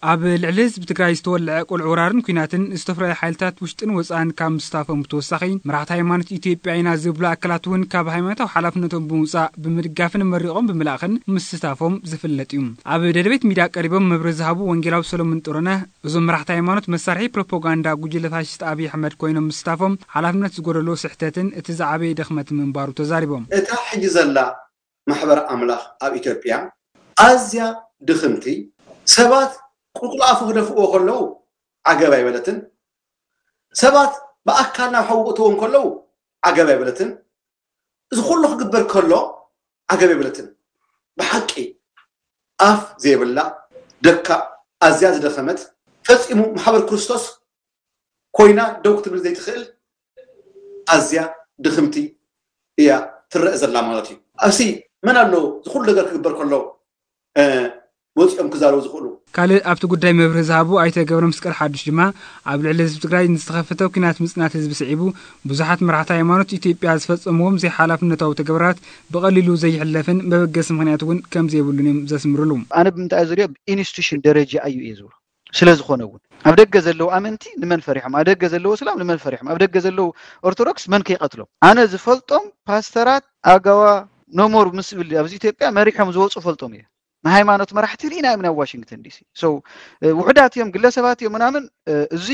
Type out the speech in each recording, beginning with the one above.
ኣብ ልዕሊ ህዝቢ ትግራይ ዝተወልዐ ቁልዕ ወራርን ኲናትን ዝተፍረየ ሓይልታት ውሽጥን ወፃእን ካብ ምስታፎም ብተወሳኺ፣ መራሕቲ ሃይማኖት ኢትዮጵያ ኢና ዝብሉ ኣካላት እውን ካብ ሃይማኖታዊ ሓላፍነቶም ብምውፃእ ብምድጋፍን መሪቖም ብምልኣኽን ምስታፎም ዝፍለጥ እዩ። ኣብ ደደቤት ሚድያ ቀሪቦም መብርሂ ዝሃቡ ወንጌላዊ ሰሎሞን ጥሩነህ፣ እዞም መራሕቲ ሃይማኖት መሳርሒ ፕሮፓጋንዳ ጉጅለ ፋሽስት ኣብይ ኣሕመድ ኮይኖም ምስታፎም ሓላፍነት ዝጎደሎ ስሕተትን እቲ ዝዓበየ ድኽመት ምንባሩ ተዛሪቦም። እታ ሕጂ ዘላ ማሕበር ኣምላኽ ኣብ ኢትዮጵያ ኣዝያ ድኽምቲ፣ ሰባት ቁልቁል ኣፉ ክደፍእዎ ከለዉ ዓገብ ኣይበለትን፣ ሰባት ብኣካል ናብ ሓዊ ክእትዎም ከለዉ ዓገብ ኣይበለትን። እዚ ኩሉ ክግበር ከሎ ዓገብ ኣይበለትን። ብሓቂ ኣፍ ዘይብላ ደካ ኣዝያ ዝደኸመት ፈጺሙ ማሕበር ክርስቶስ ኮይና ደው ክትብል ዘይትኽእል ኣዝያ ድኽምቲ እያ ትረአ ዘላ ማለት እዩ። ኣብሲ መን ኣሎ እዚ ኩሉ ነገር ክግበር ከሎ ወፂኦም ክዛረቡ ዝኽእሉ? ካልእ ኣብቲ ጉዳይ መብርሂ ዝሃቡ ኣይተ ገብረመስቀል ሓዱሽ ድማ ኣብ ልዕሊ ህዝቢ ትግራይ ንዝተኸፈተ ኲናት ምፅናት ህዝቢ ስዒቡ ብዙሓት መራሕቲ ሃይማኖት ኢትዮጵያ ዝፈፀምዎም ዘይሓላፍነታዊ ተግባራት ብቐሊሉ ዘይሕለፍን መበገሲ ምኽንያት እውን ከም ዘይብሉን እዮም ዘስምርሉ። ኣነ ብምንታይ ዝሪኦ ብኢንስቲቱሽን ደረጃ እዩ እየ ዝብሎ። ስለ ዝኾነ እውን ኣብ ደገ ዘለዉ ኣመንቲ ንመን ፈሪሖም? ኣብ ደገ ዘለዉ እስላም ንመን ፈሪሖም? ኣብ ደገ ዘለዉ ኦርቶዶክስ መን ከይቀትሎም? ኣነ ዝፈልጦም ፓስተራት ኣጋዋ ኖሞር ምስ ብል ኣብዚ ኢትዮጵያ መሪሖም ዝወፁ ፈልጦም እየ። ንሃይማኖት መራሕቲ ርኢና ኢና ኣብ ዋሽንግተን ዲሲ። So ውሑዳት እዮም፣ ግለሰባት እዮም ምናምን፣ እዚ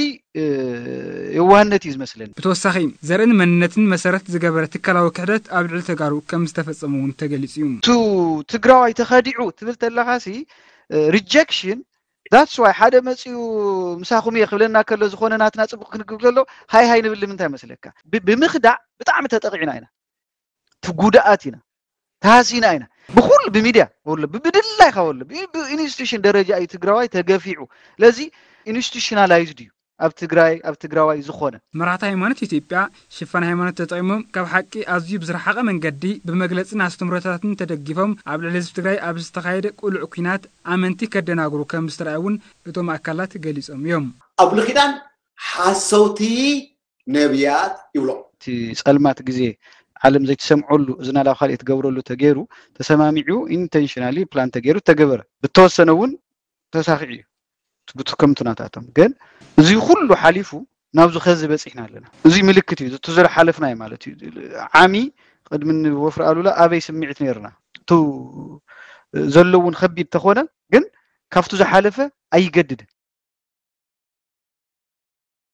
የዋህነት እዩ ዝመስለኒ። ብተወሳኺ ዘርእን መንነትን መሰረት ዝገበረ ትካላዊ ክሕደት ኣብ ልዕሊ ተጋሩ ከም ዝተፈፀመ እውን ተገሊፁ እዩ። ቱ ትግራዋይ ተኸዲዑ ትብል ተለኻሲ rejection that's why ሓደ መፂኡ ምሳኹም እየ ክብለና ከሎ ዝኾነ ናትና ፅቡቕ ክንግብ ከሎ ሃይ ሃይ ንብል ንምንታይ መስለካ? ብ- ብምኽዳዕ ብጣዕሚ ተጠቒዕና ኢና። ትጉዳኣት ኢና፣ ተሃሲና ኢና። ብኩሉ ብሚድያ ወሎ ብብድላይካ ወሎ ብኢንስቲቱሽን ደረጃ እዩ ትግራዋይ ተገፊዑ። ስለዚ ኢንስቲቱሽናላይዝድ እዩ ኣብ ትግራይ ኣብ ትግራዋይ ዝኾነ። መራሕቲ ሃይማኖት ኢትዮጵያ ሽፋን ሃይማኖት ተጠቒሞም ካብ ሓቂ ኣዝዩ ብዝረሓቐ መንገዲ ብመግለፅን ኣስተምህሮታትን ተደጊፎም ኣብ ልዕሊ ህዝቢ ትግራይ ኣብ ዝተኻየደ ቅሉዕ ኲናት ኣመንቲ ከደናግሩ ከም ዝተረኣየ እውን እቶም ኣካላት ገሊፆም እዮም። ኣብ ብሉይ ኪዳን ሓሰውቲ ነብያት ይብሎም። እቲ ፀልማት ግዜ ዓለም ዘይትሰምዐሉ እዝና ላብ ካልእ ትገብረሉ ተገይሩ ተሰማሚዑ ኢንተንሽናሊ ፕላን ተገይሩ ተገበረ ብተወሰነ እውን ተሳኺዑ እዩ ብትከምቱ ናታቶም ግን እዚ ኩሉ ሓሊፉ ናብዚ ከዚ በፂሕና ኣለና እዚ ምልክት እዩ እቲ ዝሓለፍናዮ ማለት እዩ ዓሚ ቅድሚ ንወፍሪ ኣሉላ ኣበይ ስምዒት ነይርና እቲ ዘለውን ከቢድ ተኾነ ግን ካብቲ ዝሓለፈ ኣይገድድን